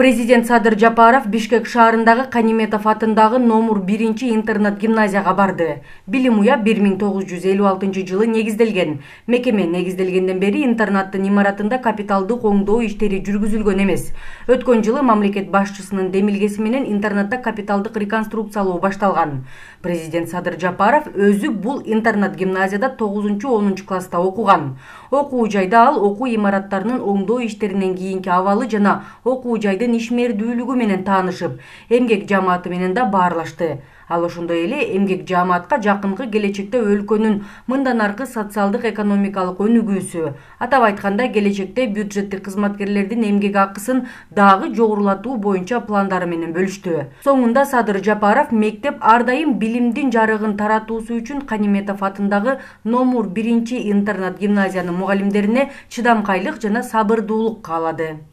Президент Садыр Жапаров Бишкек шаарындагы Каниметов атындагы номер 1 интернат гимназияга барды. Билим уя 1956 жылы негизделген. Мекеме негизделгенден бери интернаттын имаратында капиталдык оңдоо иштери жүргүзүлгөн эмес. Өткөн жылы мамлекет башчысынын демилгеси менен интернатта капиталдык реконструкциялоо башталган. Президент Садыр Жапаров өзү бул интернат гимназияда 9-10 класста окуган. Окуу жайда ал окуу имараттарынын оңдоо иштеринен кийинки абалы жана окуу жайдын ишмердүүлүгү менен таанышып, эмгек жааматы менен да баарлашты. Ал ошондой эле эмгек жааматка жакынкы келечекте өлкөнүн мындан аркы социалдык экономикалык өнүгүүсү, атап айтканда келечекте бюджеттик кызматкерлердин эмгек акысын дагы жогорулатуу боюнча пландары менен бөлүштү. Соңунда Садыр Жапаров мектеп ар дайым билимдин жарыгын таратуусу үчүн Каниметов атындагы номер 1 интернат гимназиянын мугалимдерине чыдамкайлык жана сабырдуулук каалады.